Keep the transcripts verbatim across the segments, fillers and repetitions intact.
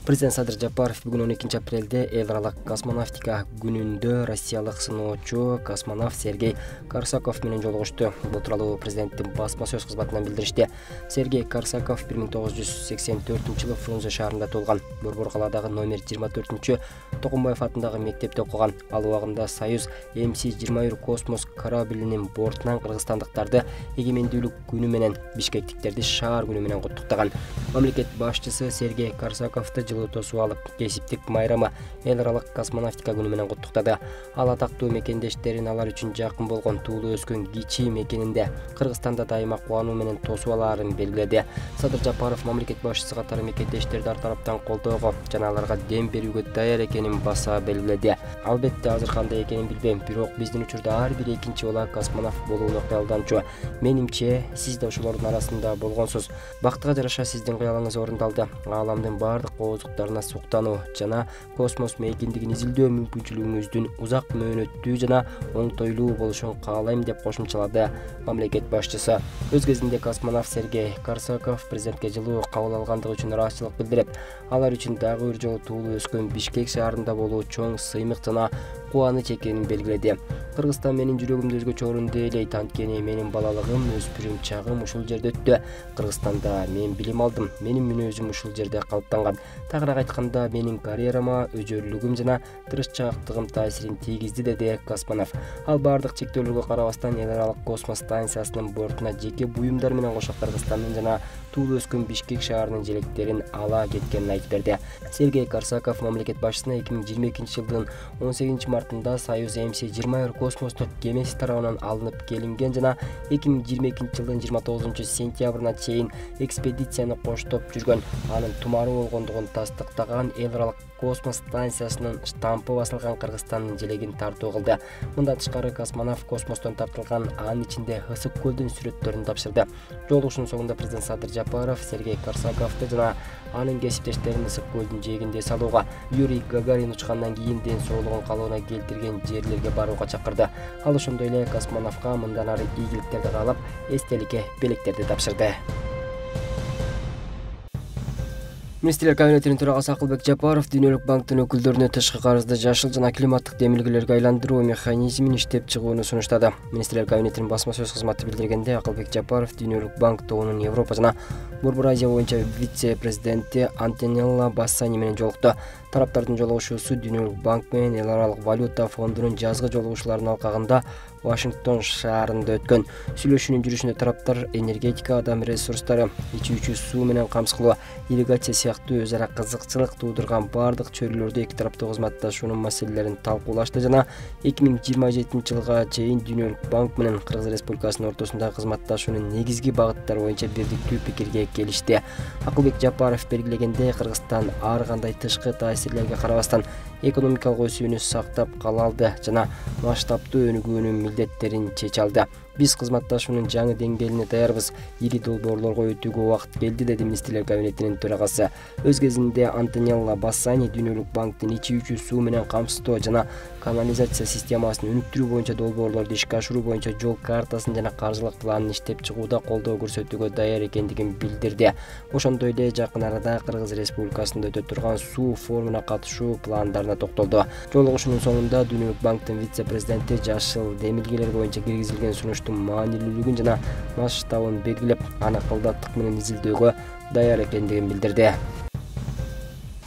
Президент Садыр Жапаров бүгүн он экинчи апрелде эл аралык космонавтика күнүндө россиялык сыноочу космонавт Сергей Корсаков менен жолугушту. Бул тууралуу президенттин басма сөз кызматынан билдиришти. Сергей Корсаков бир миң тогуз жүз сексен төртүнчү жылы Фрунзе шаарында туулган. Борбор калаадагы номер жыйырма төртүнчү Токумбаев атындагы мектепте окуган. Ал убагында Союз эм си жыйырма бир космос кораблинин бортунан кыргызстандыктарды эгемендүүлүк күнү менен, бишкектиктерди шаар күнү менен куттуктаган. Мамлекет башчысы Сергей Корсаковду жылуу тосуп алып, кесиптик майрамы эл аралык космонавтика күнү менен куттуктады. Ал атактуу мекендештерин алар үчүн жакын болгон, туулуу өскөн кичи мекенинде Кыргызстанда дайыма кубануу менен тосуп алаарын белгиледи. Садыр Жапаров мамлекет башчысы катары мекендештерди ар тараптан колдоого жана аларга дем берүүгө даяр экенин баса белгиледи. Албетте азыр кандай экенин билбейм, бирок биздин учурда ар бир экинчи бала космонавт болууну кыялданчу. Менимче, сиз да ошолордун арасында болгонсуз. Бактыга жараша сиздин кыялыңыз орундалды. Ааламдын бардык оозуктарына суктануу жана космос мейкиндигин изилдөө мүмкүнчүлүгүңүздүн узак мөөнөттүү жана оңтойлуу болушун каалайм деп кошумчалады мамлекет башчысы. Өз кезинде космонавт Сергей Корсаков президентке жылуу кабыл алгандыгы үчүн ыраазычылык билдирип, алар үчүн дагы бир жолу туулуу өскөн Бишкек шаарында болуу чоң сыймык жана кубаныч экенин белгиледи. Кыргызстан менин жүрөгүмдө өзгөчө орунду ээлейт, анткени менин балалыгым, өспүрүм чагым ушул жерде өттү. Кыргызстанда мен билим алдым, менин мүнөзүм ушул жерде калыптанган. Тагыраак айтканда, менин карьерама өжөрлүгүм жана тырышчаактыгым таасирин тийгизди, деди космонавт. Ал бардык чектөөлөргө карабастан эл аралык космос станциясынын бортуна жеке буюмдар менен кошо Кыргызстандын жана туулуу өскөн Бишкек шаарынын желектерин ала кеткенин айтып берди. Сергей Корсаков мамлекет башчысына эки миң жыйырма экинчи жылдын он сегизинчи мартында Союз эм си жыйырма бир космостук кемеси тарабынан алынып келинген жана эки миң жыйырма экинчи жылдын жыйырма тогузунчу сентябрына чейин экспедицияны коштоп жүргөн, анын тумары болгондугун тастыктаган эл аралык космос станциясынын штампы басылган Кыргызстандын желегин тартуу кылды. Мындан тышкары космонавт космостон тартылган, анын ичинде Ысык көлдүн сүрөттөрүн тапшырды. Жолугушуунун соңунда президент Садыр Жапаров Сергей Корсаковду жана анын кесиптештерин Ысык көлдүн жээгинде салууга, Юрий Гагарин учкандан кийин ден соолугун калыбына келтирген жерлерге барууга чакырды. Ал ошондой эле космонавтка мындан ары ийгиликтерди каалап, эстеликке белектерди тапшырды. Министрлер кабинетинин төрагасы Акылбек Жапаров Дүйнөлүк банктын өкүлдөрүнө тышкы карызды жашыл жана климаттык демилгелерге айландыруу механизмин иштеп чыгууну сунуштады. Министрлер кабинетинин басма сөз кызматы билдиргенде, Акылбек Жапаров Дүйнөлүк банк тобунун Европа жана Борбор Азия боюнча вице-президенти Антонелла Бассани менен жолукту. Тараптардын жолугушуусу Дүйнөлүк банк менен эл аралык валюта фондунун жазгы жолугушууларынын алкагында Вашингтон шаарында өткөн. Сүйлөшүүнүн жүрүшүндө тараптар энергетика, адам ресурстары, ичүүчү суу менен камсыз кылуу, ирригация сыяктуу өз ара кызыкчылык туудурган бардык чөйрөлөрдө эки тараптуу кызматташуунун маселелерин талкуулашты жана эки миң жыйырма жетинчи жылга чейин Дүйнөлүк банк менен Кыргыз Республикасынын ортосундагы кызматташуунун негизги багыттары боюнча бирдиктүү пикирге келишти. Акылбек Жапаров белгилегендей, Кыргызстан ар кандай тышкы таасирлерге карабастан экономикалык өсүүнү сактап кала алды жана масштабтуу өнүгүүнүн милдеттерин чече алды. Биз кызматташуунун жаңы деңгээлине даярбыз. Ири долбоорлорго өтүүгө убакыт келди, деди министрлер кабинетинин төрагасы. Өз кезинде Антонелла Бассани Дүйнөлүк банктын ичүүчү суу менен камсыздоо жана канализация системасын өнүктүрүү боюнча долбоорлорду ишке ашыруу боюнча жол картасын жана каржылык планын иштеп чыгууда колдоо көрсөтүүгө даяр экендигин билдирди. Ошондой эле жакын арада Кыргыз Республикасында өтө турган суу форумуна катышуу пландарына токтолду. Жолугушуунун соңунда Дүйнөлүк банктын вице-президенти жашыл демилгелер боюнча киргизилген сунуштун маанилүүлүгүн жана масштабын белгилеп, аны кылдаттык менен изилдөөгө даяр экендигин билдирди.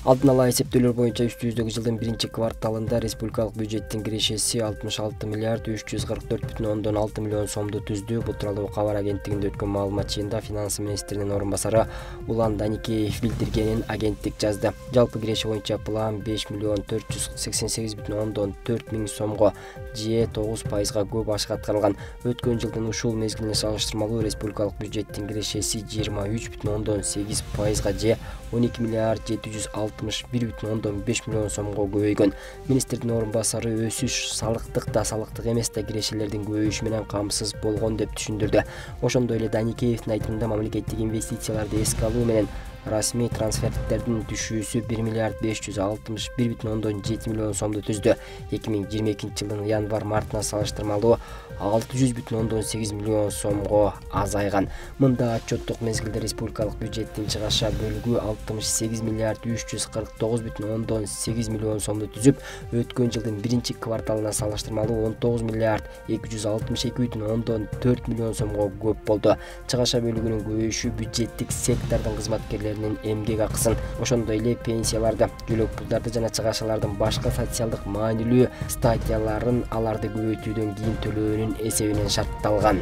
Алдын ала эсептөөлөр боюнча үч жүздөгү жылдын биринчи кварталында республикалык бюджеттин кирешеси алтымыш алты миллиард үч жүз кырк төрт бүтүн ондон алты миллион сомду түздү. Бул тууралуу кабар агенттигинде өткөн маалымат жыйынында финансы министринин орун басары Улан Даникеев билдиргенин агенттик жазды. Жалпы киреше боюнча план беш миллион төрт жүз сексен сегиз бүтүн ондон төрт миң сомго, же тогуз пайызга көп ашык аткарылган. Өткөн жылдын ушул мезгилине салыштырмалуу республикалык бюджеттин кирешеси жыйырма үч бүтүн ондон сегиз пайызга, же он эки миллиард жети жүз алтымыш бир бүтүн ондон беш миллион сомго көбөйгөн. Министрдин орун басары өсүш салыктык да, салыктык эмес да кирешелердин көбөйүшү менен камсыз болгон деп түшүндүрдү. Ошондой эле Даникеевдин айтымында мамлекеттик инвестицияларды эске алуу менен Расмий трансферттердин түшүүсү бир миллиард беш жүз алтымыш бир бүтүн ондон жети миллион сомду түздү. эки миң жыйырма экинчи жылдын январь-мартына салыштырмалуу алты жүз бүтүн ондон сегиз миллион сомго азайган. Мында отчеттук мезгилде республикалык бюджеттин чыгаша бөлүгү алтымыш сегиз миллиард үч жүз кырк тогуз бүтүн ондон сегиз миллион сомду түзүп, өткөн жылдын биринчи кварталына салыштырмалуу он тогуз миллиард эки жүз алтымыш эки бүтүн ондон төрт миллион сомго көп болду. Чыгаша бөлүгүнүн көбөйүшү бюджеттик сектордун кызматкерлеринин эмгек акысын, ошондой эле пенсияларды, жөлөк пулдарды жана чыгашалардын башка социалдык маанилүү статьяларын аларды көбөйтүүдөн кийин төлөөнүн эсебинен шартталган.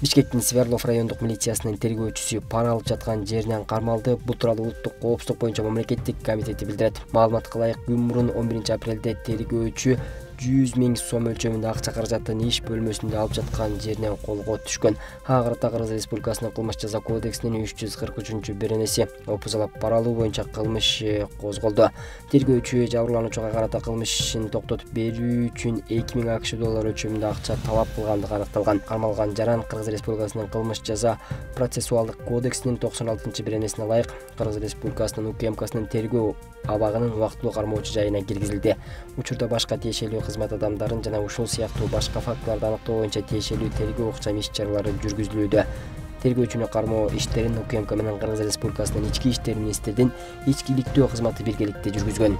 Бишкектин Сверлов райондук милициясынын тергөөчүсү пара алып жаткан жеринен кармалды. Бул тууралуу Улуттук коопсуздук боюнча мамлекеттик комитети билдирет. Маалыматка ылайык, күн мурун он биринчи апрелде тергөөчү жүз миң сом өлчөмүндө акча каражатын иш бөлмөсүндө алып жаткан жеринен колго түшкөн. Ага карата Кыргыз Республикасынын кылмыш жаза кодексинин үч жүз кырк үчүнчү беренеси опузалап пара алуу боюнча кылмыш козголду. Тергөөчү жабырлануучуга карата кылмыш ишин токтотуп берүү үчүн эки миң акш доллар өлчөмүндө акча талап кылгандыгы аныкталган. Кармалган жаран Кыргыз Республикасынын кылмыш жаза процессуалдык кодексинин токсон алтынчы беренесине ылайык Кыргыз Республикасынын УКМКсынын тергөө абагынын убактылуу кармоочу жайына киргизилди. Учурда башка тиешелүү кызмат адамдарын жана ушул сыяктуу башка фактыларды аныктоо боюнча тиешелүү тергөө укчам иш-чаралары жүргүзүлүүдө. Тергөөчүнү кармоо иштерин УКМК менен Кыргыз Республикасынын ички иштер министрдин ички иликтөө кызматы биргеликте жүргүзгөн.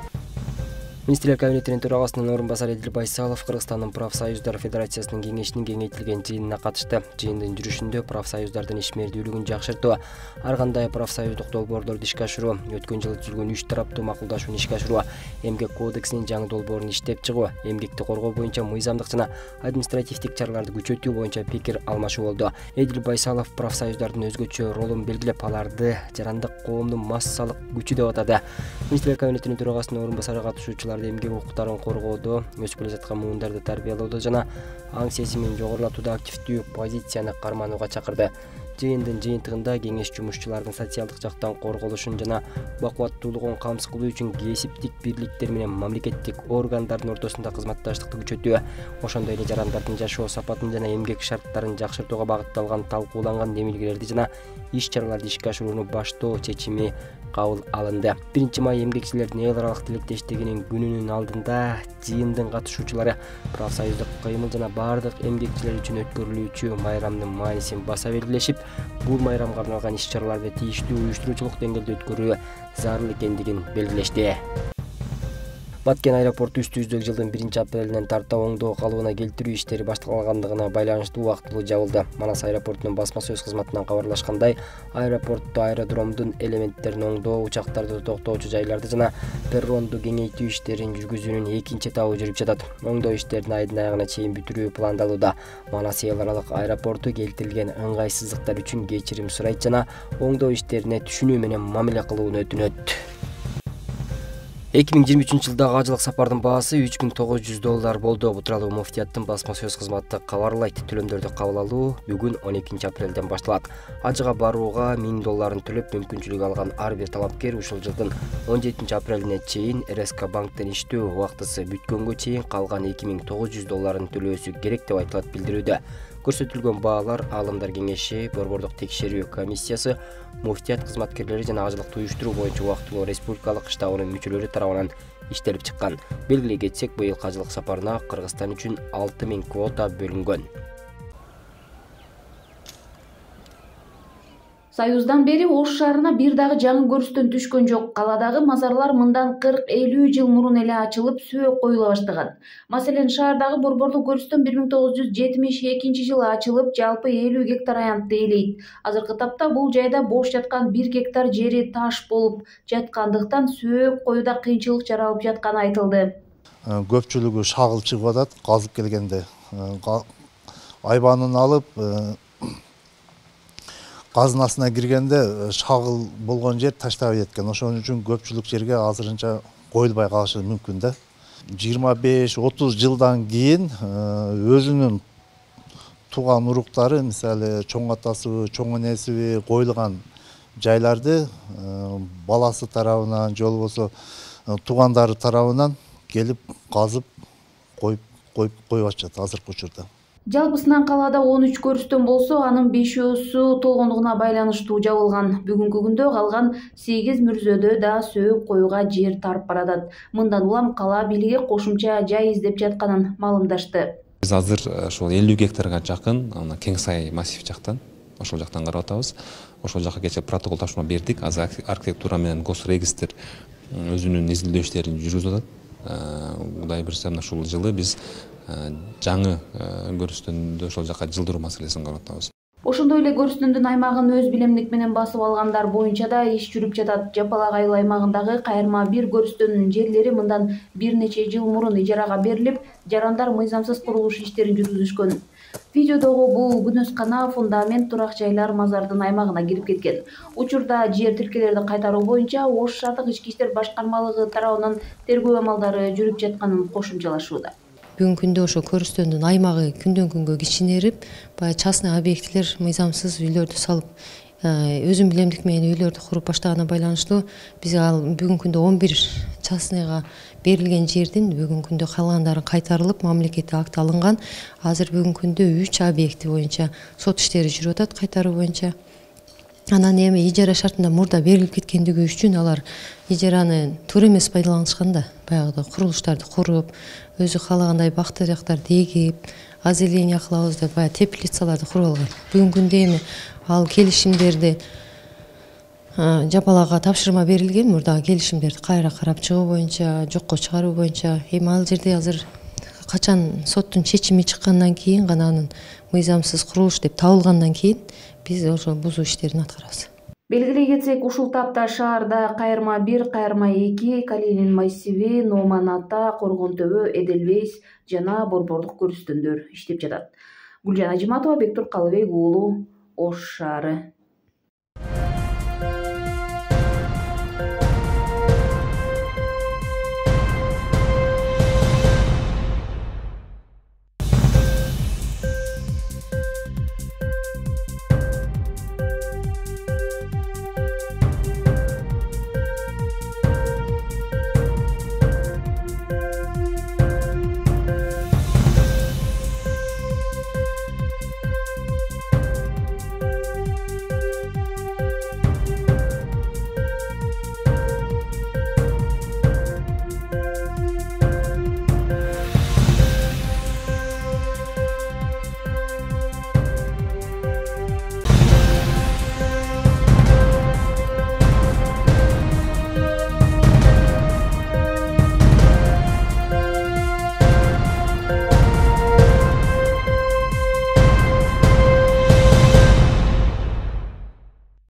Министрлер кабинетинин төрагасынын орун басары Эдил Байсалов Кыргызстандын профсоюздар федерациясынын кеңешинин кеңейтилген жыйынына катышты. Жыйындын жүрүшүндө профсоюздардын ишмердүүлүгүн жакшыртуу, ар кандай профсоюздук долбоорлорду ишке ашыруу, өткөн жылы түзүлгөн үч тараптуу макулдашууну ишке ашыруу, эмгек кодексинин жаңы долбоорун иштеп чыгуу, эмгекти коргоо боюнча мыйзамдык жана административдик чараларды күчөтүү боюнча пикир алмашуу болду. Эдил Байсалов профсоюздардын өзгөчө ролун белгилеп, аларды жарандык коомдун массалык күчү деп атады. Министрлер кабинетинин төрагасынын орун басары катышуучуларды эмгек укуктарын коргоодо, өсүп келе жаткан муундарды тарбиялоодо жана аң сезимин жогорулатууда активдүү позицияны карманууга чакырды. Жыйындын жыйынтыгында кеңеш жумушчулардын социалдык жактан корголушун жана бакубаттуулугун камсыз кылуу үчүн кесиптик бирликтер менен мамлекеттик органдардын ортосунда кызматташтыкты күчөтүү, ошондой эле жарандардын жашоо сапатын жана эмгек шарттарын жакшыртууга багытталган талкууланган демилгелерди жана иш-чараларды ишке ашырууну баштоо чечими кабыл алынды. биринчи май эмгекчилердин эл аралык тилектештигинин күнүнүн алдында жыйындын катышуучулары профсоюздук кыймыл жана бардык эмгекчилер үчүн өткөрүлүүчү майрамдын маанисин баса белгилешип, бул майрамга арналган иш-чараларды тийиштүү уюштуруучулук деңгээлде өткөрүү зарыл экендигин белгилешти. Баткен аэропорту үстүбүздөгү жылдын биринчи апрелинен тарта оңдоо калыбына келтирүү иштери башталгандыгына байланыштуу убактылуу жабылды. Манас аэропортунун басма сөз кызматынан кабарлашкандай, аэропортто аэродромдун элементтерин оңдоо, учактарды токтоочу жайларды жана перронду кеңейтүү иштерин жүргүзүүнүн экинчи этабы жүрүп жатат. Оңдоо иштерин айдын аягына чейин бүтүрүү пландалууда. Манас эл аралык аэропорту келтирилген ыңгайсыздыктар үчүн кечирим сурайт жана оңдоо иштерине түшүнүү менен мамиле кылууну өтүнөт. эки миң жыйырма үчүнчү жылдагы ажылык сапардын баасы үч миң тогуз жүз доллар болду. Бул тууралуу муфтияттын басма сөз кызматы кабарлайт. Төлөмдөрдү кабыл алуу бүгүн он экинчи апрелден башталат. Ажыга барууга миң долларын төлөп мүмкүнчүлүк алган ар бир талапкер ушул жылдын он жетинчи апрелине чейин эр эс ка банктен иштөө убактысы бүткөнгө чейин калган эки миң тогуз жүз долларын төлөөсү керек деп айтылат билдирүүдө. Көрсөтүлгөн баалар Аалымдар кеңеши, Борбордук текшерүү комиссиясы, муфтият кызматкерлери жана ажылыкты уюштуруу боюнча убактылуу республикалык штабынын мүчөлөрү тарабынан иштелип чыккан. Белгилей кетсек, быйылкы ажылык сапарына Кыргызстан үчүн алты миң квота бөлүнгөн. Союздан бери Ош шаарына бир дагы жаңы көрүстөн түшкөн жок. Каладагы мазарлар мындан кырк элүү жыл мурун эле ачылып, сөөк коюла баштаган. Маселен, шаардагы борборлук көрүстөн бир миң тогуз жүз жетимиш экинчи жылы ачылып, жалпы элүү гектар аянтты ээлейт. Азыркы тапта бул жайда бош жаткан бир гектар жери таш болуп жаткандыктан сөөк коюуда кыйынчылык жаралып жатканы айтылды. Көпчүлүгү шагыл чыгып атат, казып келгенде. Айбанын алып, казынасына киргенде шагыл болгон жер таштабай кеткен. Ошон үчүн көпчүлүк жерге азырынча коюлбай калышы мүмкүн да. жыйырма беш отуз жылдан кийин өзүнүн тууган уруктары, мисалы чоң атасыбы, чоң энесиби коюлган жайларды баласы тарабынан же болбосо туугандары тарабынан келип казып коюп коюп коюп атышат азыркы учурда. Жалпысынан калаада он үч көрүстөн болсо, анын бешөөсү толгондугуна байланыштуу жабылган. Бүгүнкү күндө калган сегиз мүрзөдө да сөөк коюуга жер тарип баратат. Мындан улам кала бийлиги кошумча жай издеп жатканын маалымдашты. Биз азыр ошол элүү гектарга жакын Кең Сай массив жактан, ошол жактан карап атабыз. Ошол жака кечээ протокол тапшырма бердик. Азыр архитектура менен госрегистр өзүнүн изилдөө иштерин жүргүзүп атат. Кудай буюрса, ушул жылы биз жаңы көрүстөндө ошол жака жылдыруу маселесин карап атабыз. Ошондой эле көрүстөндүн аймагын өз билемдик менен басып алгандар боюнча да иш жүрүп жатат. Жапалак айыл аймагындагы кайырма бир көрүстөнүн жерлери мындан бир нече жыл мурун ижарага берилип, жарандар мыйзамсыз курулуш иштерин жүргүзүшкөн. Видеодогу бул күнөскана, фундамент, турак жайлар мазардын аймагына кирип кеткен. Учурда жер тилкелерди кайтаруу боюнча Ош шаардык ички иштер башкармалыгы тарабынан тергөө амалдары жүрүп жатканын кошумчалашууда. Бүгүнкү күндө ошо көрүстөндүн аймагы күндөн күнгө кичинерип, баягы частный объектилер мыйзамсыз үйлөрдү салып, өзүн билемдик менен үйлөрдү куруп баштаганына байланыштуу биз ал бүгүнкү күндө он бир частныйга берилген жердин бүгүнкү күндө калгандары кайтарылып, мамлекеттик акт алынган. Азыр бүгүнкү күндө үч объекти боюнча сот иштери жүрүп атат кайтаруу боюнча. Анан эми ижара шартында мурда берилип кеткендиги үчүн алар ижараны туура эмес пайдаланышкан да. Баягы курулуштарды куруп, өзү каалагандай бак дарактарды эгип, озеленение кылабыз деп баягы теплицаларды куруп алган. Бүгүнкү күндө эми ал келишимдерди жапалакка тапшырма берилген, мурдагы келишимдерди кайра карап чыгуу боюнча, жокко чыгаруу боюнча. Эми ал жерде азыр качан соттун чечими чыккандан кийин гана анын мыйзамсыз курулуш деп табылгандан кийин биз ошол бузуу иштерин аткарабыз. Белгилей кетсек, ушул тапта шаарда кайырма бир, кайырма эки, Калинин массиви, Номан Ата, Коргон Төбө, Эделвейс жана борбордук көрүстөндөр иштеп жатат. Гүлжан Ажиматова, Бектур Калыбек уулу, Ош шаары.